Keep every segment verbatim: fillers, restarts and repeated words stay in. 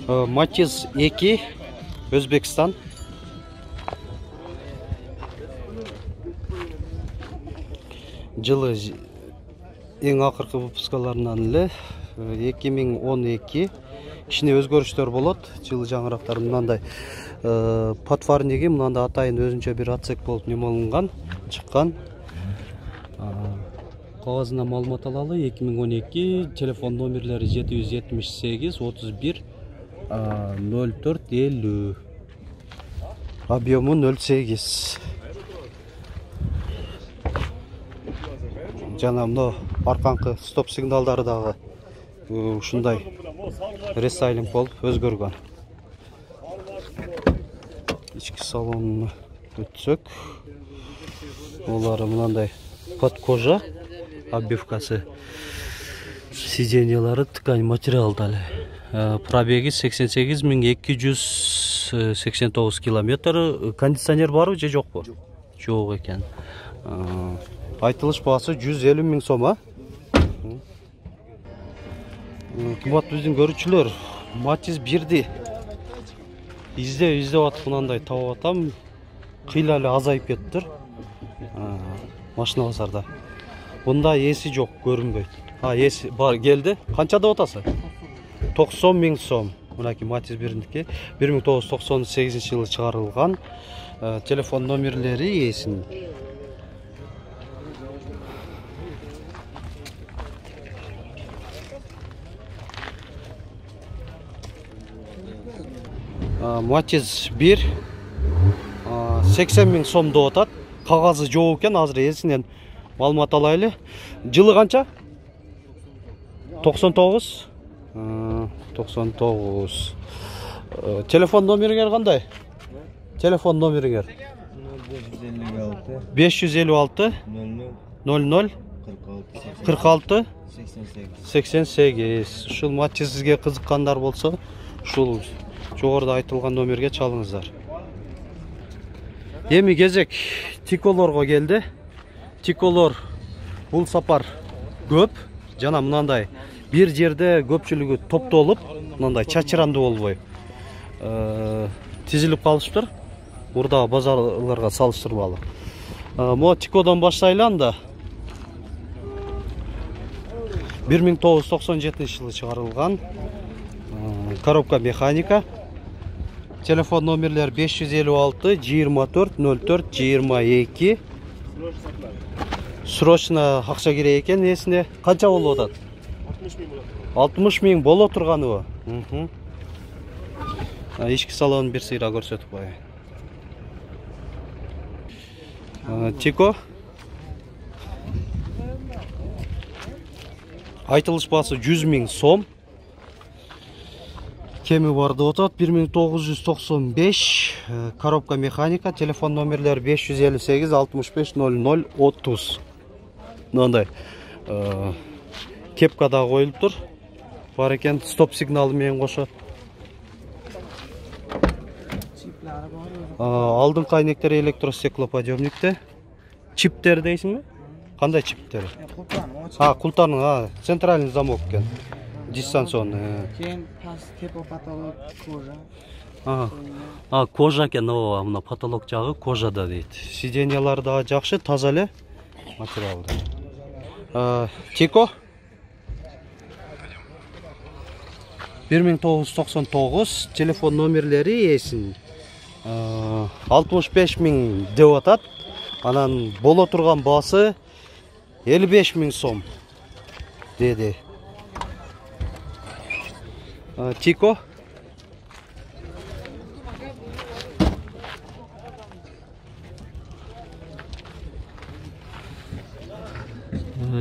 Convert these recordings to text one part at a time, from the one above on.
Matiz эки, Өзбекстан. Жылы эң акыркы выпускаларынан эле эки миң он эки кичине өзгөрүштөр болот. Жылы жаңырактар мындай подфарниги мындай атайын өзүнчө бир отсек болуп немолунган, чыккан. Кагазына маалымат алалы. эки миң он эки, телефон номерлери жети жүз жетимиш сегиз отуз бир ноль төрт элүү. Объему ноль сегиз. Жана мына арканкы стоп сигналдары дагы ушундай рестайлинг болуп өзгөргөн. Ички салонуна өтсөк, олары мындай под кожа обивкасы, сиденьялары ткань материалда эле. Пробеги сексен сегиз миң эки жүз сексен тогуз километр. Кондиционер барбы же жокпу? Жок экен. Айтылыш баасы жүз элүү миң сом, а? Кымбат биздин көрүүчүлөр, Matiz бирди издеп издеп атып мындай таап атам. Кыйла эле азайып кетиптир. Машина базарда. Бунда эси жок, көрүнбөйт. А, эси бар, келди. Канча деп атасың? токсон миң сом. Мынакей Matiz бирдики бир миң тогуз жүз токсон сегизинчи жылы чыгарылган. Телефон номерлери эсин. Matiz бир сексен миң сом деп атат. Кагазы жок экен, азыр эсинен маалымат алайлы. Жылы канча? токсон тогуз. токсон тогуз. Телефон номериңер кандай? Телефон номериңер? беш жүз элүү алты ноль ноль кырк алты сексен сегиз. Ушул Matiz'ге кызыккандар болсо, ушул жогоруда айтылган номерге чалыңыздар. Эми кезек Тиколорго келди. Тиколор бул сапар көп жана мындай бир жерде көпчүлүгү топтолуп, мындай чачырандуу болбой тизилип калышыптыр. Мурдагы базарларга салыштырмалуу. Мо Тикодон баштайлы анда. бир миң тогуз жүз токсон жетинчи жылы чыгарылган. Коробка механика. Телефон номерлер беш жүз элүү алты жыйырма төрт ноль төрт жыйырма эки. Срочно акча керек экен эсине. Канча болуп атат? алтымыш миң боло турганыбы? Ички салонун бир сыйра көрсөтүп коеюн. Тико. Айтылыш баасы жүз миң сом. Кеми бар деп атат, бир миң тогуз жүз токсон беш. Коробка механика. Телефон номерлери беш жүз элүү сегиз алтымыш беш ноль ноль отуз. Мындай кепка да коюлуптур. Бар экен, стоп сигналы менен кошо. Алдыңкы айнектер электростеклоподъемникте. Чиптер дейсиңби? Кандай чиптер? А, култанын, а, центральный замок экен. Дистанционный. Кен пас тепо потолок кожа. А, а кожа экен, ооба, мына потолок жагы кожада дейт. Сиденьялар да жакшы, таза эле материалды. Тико бир миң тогуз жүз токсон тогуз. Телефон номерлери эсин алтымыш беш миң деп атат. Анан боло турган баасы элүү беш миң сом деди. Тико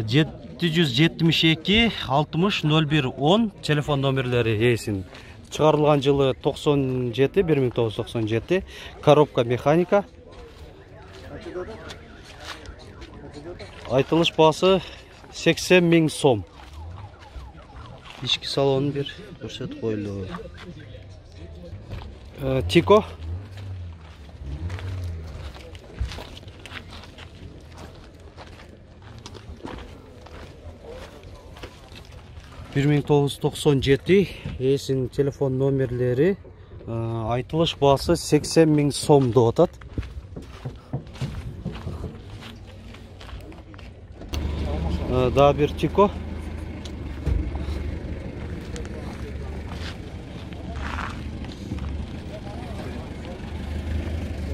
жети жүз жетимиш эки алтымыш ноль бир он. Телефон номерлери эсин. Чыгарылган жылы токсон жети, бир миң тогуз жүз токсон жети. Коробка механика. Айтылыш баасы сексен миң сом. Ички салонун бир көрсөтүп койлу. Тико бир миң тогуз жүз токсон жети ээсинин телефон номерлери, айтылыш баасы сексен миң сом деп атат. Да бир Тико.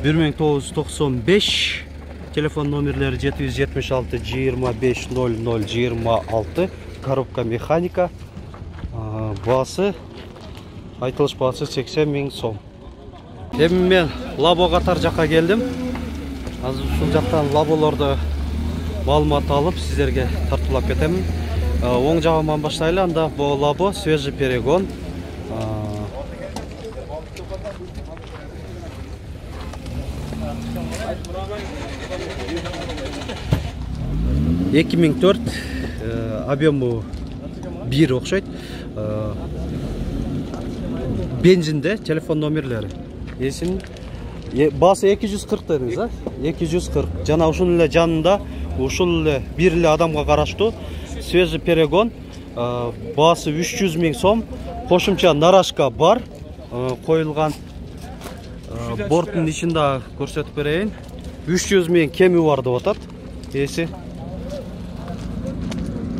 бир миң тогуз жүз токсон беш телефон номерлери жети жүз жетимиш алты жыйырма беш ноль ноль жыйырма алты, коробка механика, баасы айтылыш баасы сексен миң сом. Эми мен Лабо катар жакка келдим. Азыр ушул жактан лаболорду маалымат алып сиздерге тартуулап кетемин. Оң жагыман баштайлы, анда бул Лабо свежий перегон. эки миң төрт, объему бир окшойт. Бензинде телефон номерлери. Эсин баасы эки жүз кырк дедиңиз, а? эки жүз кырк. Жана ушунун эле жанында ушул эле бир эле адамга караштуу свежий перегон, баасы үч жүз миң сом. Кошумча нарашка бар, коюлган. Борттун ичинде көрсөтүп берейин. үч жүз миң кеми бар деп атат. Эси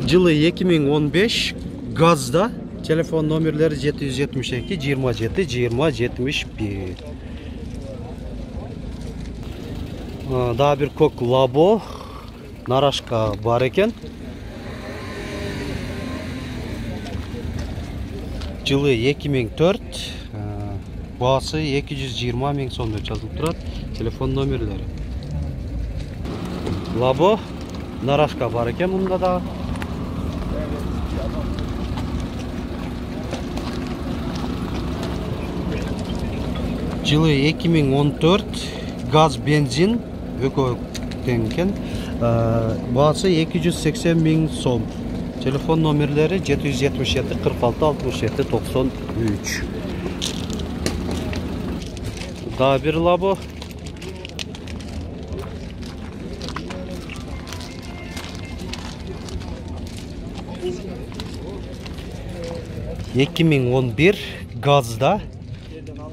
жылы эки миң он беш, газда. Телефон номерлери жети жүз жетимиш эки жыйырма жети жыйырма жетимиш бир. Дагы бир кок Лабо нарашка бар экен. Жылы эки миң төрт, баасы эки жүз жыйырма миң сом деп жазылып турат. Телефон номерлери. Лабо нарашка бар экен мында да. Жылы эки миң он төрт, газ бензин экөө тең экен. Баасы эки жүз сексен миң сом. Телефон номерлери жети жүз жетимиш жети кырк алты алтымыш жети токсон үч. Дагы бир Лабо. эки миң он бир, газда.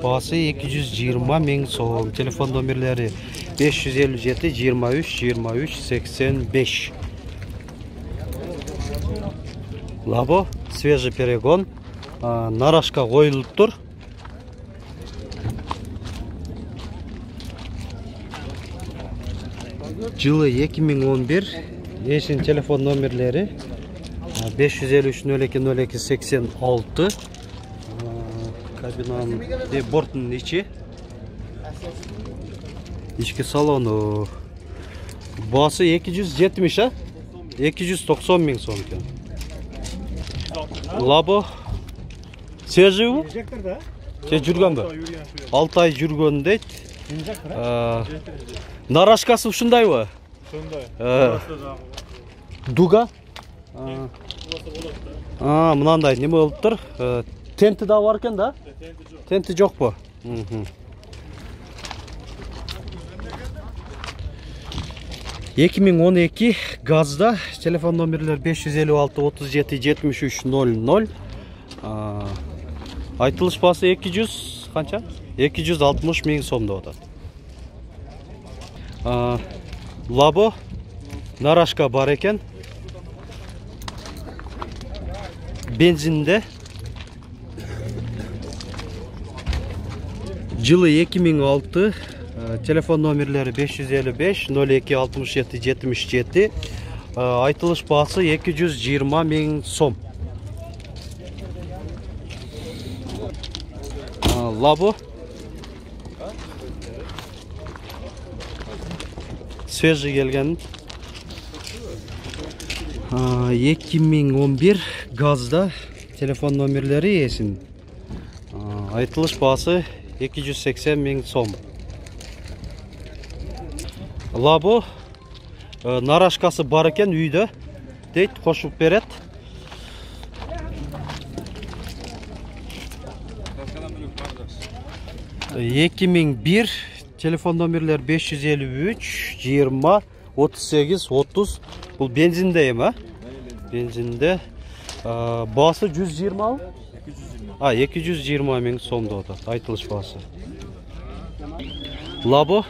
Баасы эки жүз жыйырма миң сом. Телефон номерлери беш жүз элүү жети жыйырма үч жыйырма үч сексен беш. Лабо свежий перегон, нарашка коюлуптур. Жылы эки миң он бир, ээсинин телефон номерлери беш жүз элүү үч ноль эки ноль эки сексен алты. Кабинанын борттун ичи, ички салону. Баасы эки жүз жетимиш, а? эки жүз токсон миң сом экен. Лабо свежийбу? Же жүргөнбү? алты ай жүргөн дейт. Нарашкасы ушундайбы? Ушундай. Дуга? А, мынандай неме болуптур? Тенти да бар экен да? Тенти жокпу? эки миң он эки, газда. Телефон номерлер беш жүз элүү алты отуз жети жетимиш үч ноль ноль. Айтылыш баасы эки жүз канча? эки жүз алтымыш миң сом деп атат. Лабо нарашка бар экен. Бензинде. Жылы эки миң алты, телефон номерлери беш жүз элүү беш ноль эки алтымыш жети жетимиш жети. Айтылыш баасы эки жүз жыйырма миң сом. Лабо свежий келген. эки миң он бир, газда. Телефон номерлери ээсин. Айтылыш баасы эки жүз сексен миң сом. Лабо нарашкасы бар экен үйдө дейт, кошуп берет. эки миң бир, телефон номерлер беш жүз элүү үч жыйырма отуз сегиз отуз. Бул бензинде эми, а? Бензинде. Баасы жүз жыйырмабы? А, эки жүз жыйырма миң сом деп атат, айтылыш баасы. Лабо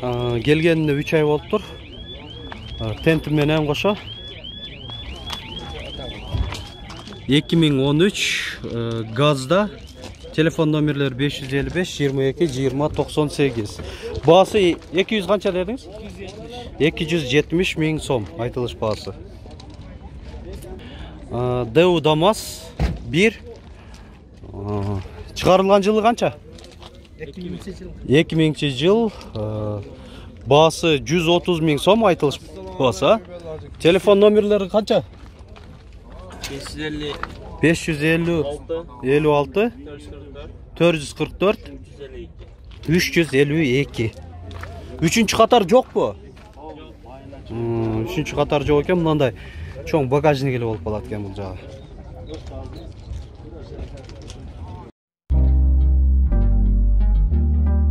келгенине үч ай болуптур. Тенти менен кошо эки миң он үч газда. Телефон номерлери беш жүз элүү беш жыйырма эки жыйырма токсон сегиз. Баасы эки жүз канча дедиңиз? эки жүз жетимиш миң сом айтылыш баасы. Дэу ДАМАЗ бир. Чыгарылган жылы канча? эки миңинчи жыл. Баасы жүз отуз миң сом айтылыш баасы. Телефон номерлери канча? беш жүз элүү алты төрт жүз кырк төрт үч жүз элүү эки. Үчүнчү катар жокпу? Үчүнчү катар жок экен, мындай чоң багажник эле болуп калат экен бул жагы.